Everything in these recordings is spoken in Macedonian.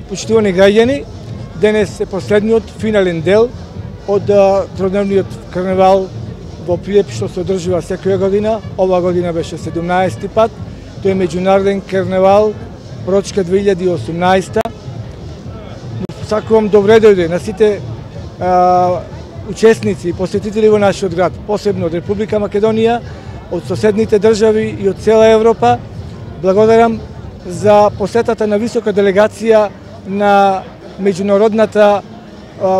Почитувани граѓани, денес е последниот финален дел од тројдневниот карневал во Прилеп што се одржува секоја година. Ова година беше 17-ти пат. Тој е меѓународен карневал Прочка 2018. Сакувам добре дојде на сите учесници и посетители во нашиот град, посебно од Република Македонија, од соседните држави и од цела Европа. Благодарам за посетата на висока делегација на Меѓународната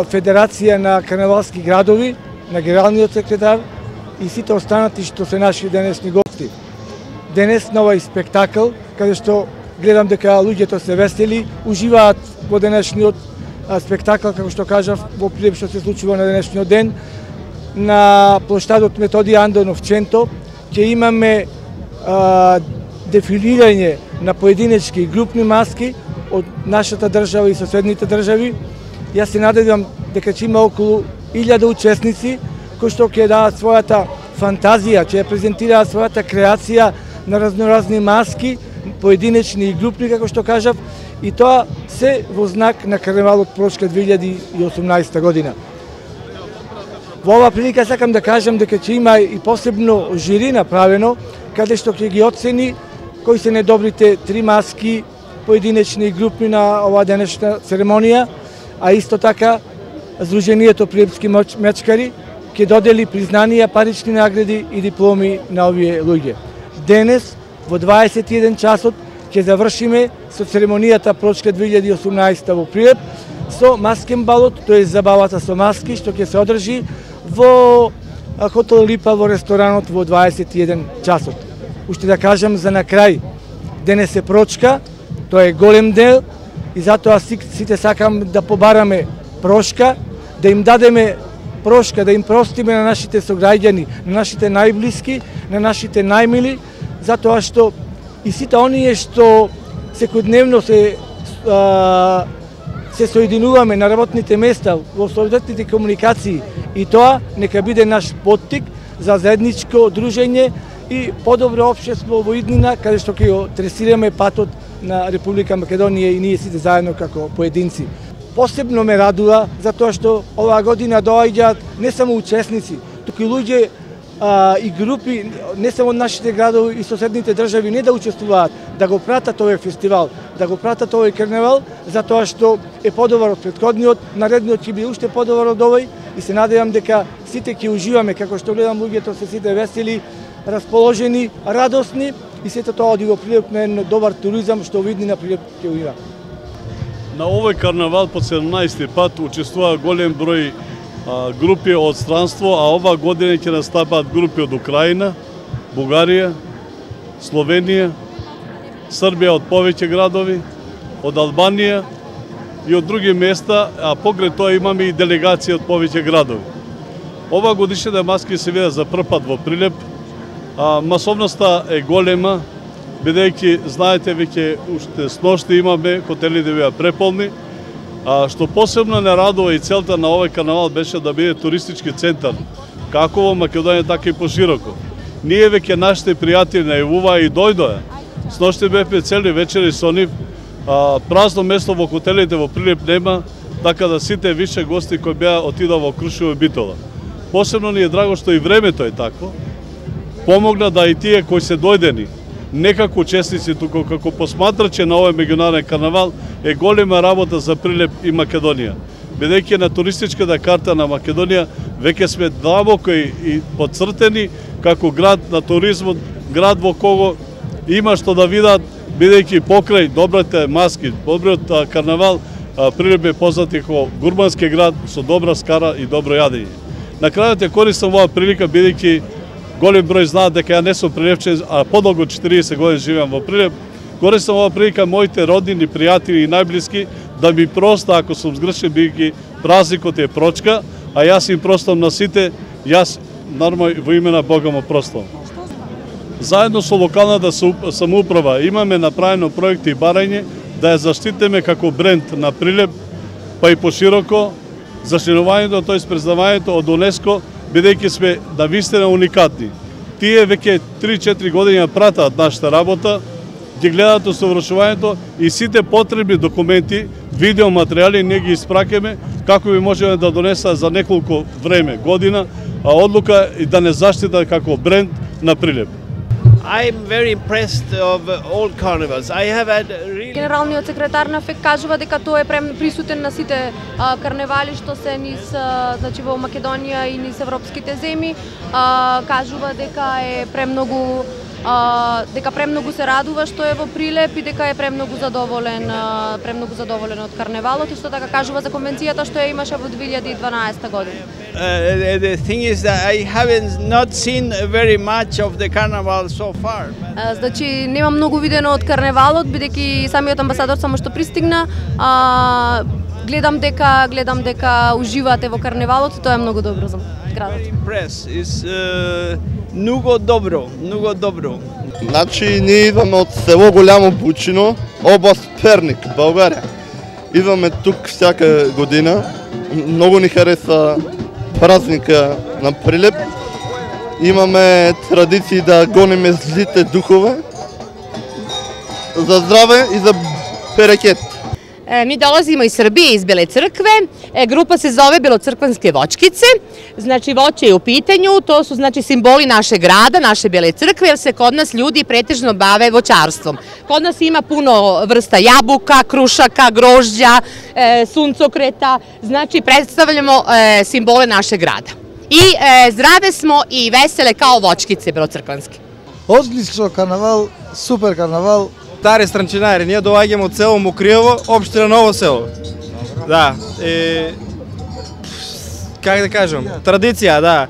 федерација на карневалски градови, на генералниот секретар и сите останати што се наши денешни гости. Денес на овој спектакл, каде што гледам дека луѓето се весели, уживаат во денешниот спектакл, како што кажав, во Прилеп што се случува на денешниот ден, на плоштадот Методија Андонов Ченто, ќе имаме дефилирање на поединечки и групни маски од нашата држава и соседните држави. Јас се надевам дека ќе има околу 1000 учесници кои што ќе дадат својата фантазија, ќе презентираат својата креација на разноразни маски, поединечни и групни, како што кажав, и тоа се во знак на карневалот Прочка 2018 година. Во ова прилика сакам да кажам дека ќе има и посебно жири направено, каде што ќе ги оцени кои се најдобрите 3 маски, поединечни и групни на оваа денешна церемонија, а исто така Сдруженијето Прилепски мечкари ќе додели признанија, парични награди и дипломи на овие луѓе. Денес во 21 часот ќе завршиме со церемонијата Прочка 2018 во Прилеп со маскен балот, тоа е забавата со маски што ќе се одржи во хотел Липа во ресторанот во 21 часот. Уште да кажам за на крај, денес е Прочка, тоа е голем дел и затоа сите сакам да побараме прошка, да им дадеме прошка, да им простиме на нашите сограѓани, на нашите најблиски, на нашите најмили, затоа што и сите оние што секојдневно се соединуваме на работните места, во соодветните комуникации, и тоа нека биде наш поттик за заедничко дружење и подобро општество во иднина, каде што ќе тресираме патот на Република Македонија и ние сите заедно како поединци. Посебно ме радува затоа што оваа година доаѓаат не само учесници, туку и луѓе и групи, не само од нашите градови и соседните држави, не да учествуваат, да го пратат овој фестивал, да го пратат овој карневал, затоа што е подобар од претходниот, наредниот ќе биде уште подобар од овој и се надевам дека сите ќе уживаме, како што гледам луѓето се сите весели, расположени, радосни и сето тоа оди во Прилеп на еден добар туризам што видни на Прилеп ќе има. На овој карнавал по 17-ти пат учествува голем број групи од странство, а ова година ќе настапаат групи од Украина, Бугарија, Словенија, Србија од повеќе градови, од Албанија и од други места, а покрај тоа имаме и делегација од повеќе градови. Ова годишната маски се видат за прв пат во Прилеп. Масовноста е голема, бидејќи знаете веќе уште сношти имаме хотелите беа преполни. Што посебно не радува и целта на овој карнавал беше да биде туристички центар, како во Македонија, така и пошироко. Ние веќе нашите пријатели најавуваа и дојдоа. Сношти бевме цели вечери со нив, празно место во хотелите во Прилеп нема, така да сите више гости кои беа отидоа во Крушево и Битола. Посебно ни е драго што и времето е такво. Помогна да и тие кои се дојдени, не како учесници, туку како посматрачи на овој меѓународен карнавал, е голема работа за Прилеп и Македонија. Бидејќи на туристичката карта на Македонија веќе сме длабоко и подцртени како град на туризмот, град во кого има што да видат, бидејќи покрај добрите маски, добриот карнавал, Прилеп е познат како гурмански град со добра скара и добро јадење. На крајот ја користам оваа прилика бидејќи голем број знаат дека ја не сум прилепчен, а подолго 40 години живеам во Прилеп. Користам оваа прилика моите роднини, пријатели и најблиски да ми проста ако сум сгрешен, бидејќи празникот е Прочка, а јас им простам на сите, јас нормално во име на Бога му простам. Заедно со локалната самоуправа имаме направено проекти и барање да ја заштитиме како бренд на Прилеп, па и пошироко, зачленувањето, тоест признавањето од УНЕСКО, бидејќи сме навистина уникатни. Тие веќе 3-4 години пратат нашата работа, ги гледаат усовршувањето и сите потребни документи видеоматеријали, ние ги испракеме како би можеме да донеса за неколку време, година, одлука и да не заштита како бренд на Прилеп. I'm very impressed of all carnivals. I have had really... Генералниот секретар на ФЕК кажува дека тој е присутен на сите карневали што се низ значи во Македонија и низ европските земји. Кажува дека е премногу се радува што е во Прилеп и дека е премногу задоволен од карневалот, и што така кажува за конвенцијата што ја имаше во 2012 година. The thing is that I haven't not seen very much of the carnival so far. Значи нема многу видено од карневалот, бидејќи самиот амбасадор само што пристигна. Гледам дека уживате во карневалот и тоа е многу добро за градот. Impress is многу добро. Значи ние идваме од село Голямо Бучино, област Перник, Българија. Идваме тук всяка година. Многу ни хареса празника на Прилеп. Имаме традиции да гониме злите духове. За здраве и за берекет. Mi dolazimo iz Srbije, iz Bele crkve, grupa se zove Belocrkvanske voćkice, znači voće je u pitanju, to su znači simboli našeg grada, naše Bele crkve, jer se kod nas ljudi pretežno bave voćarstvom. Kod nas ima puno vrsta jabuka, krušaka, grožđa, suncokreta, znači predstavljamo simbole našeg grada. I zdrave smo i vesele kao voćkice Belocrkvanske. Одлично карнавал, супер карнавал. Стари странчинари, ние доаѓаме од село Мокриево, општина Ново село. Да, как да кажам, традиција, да.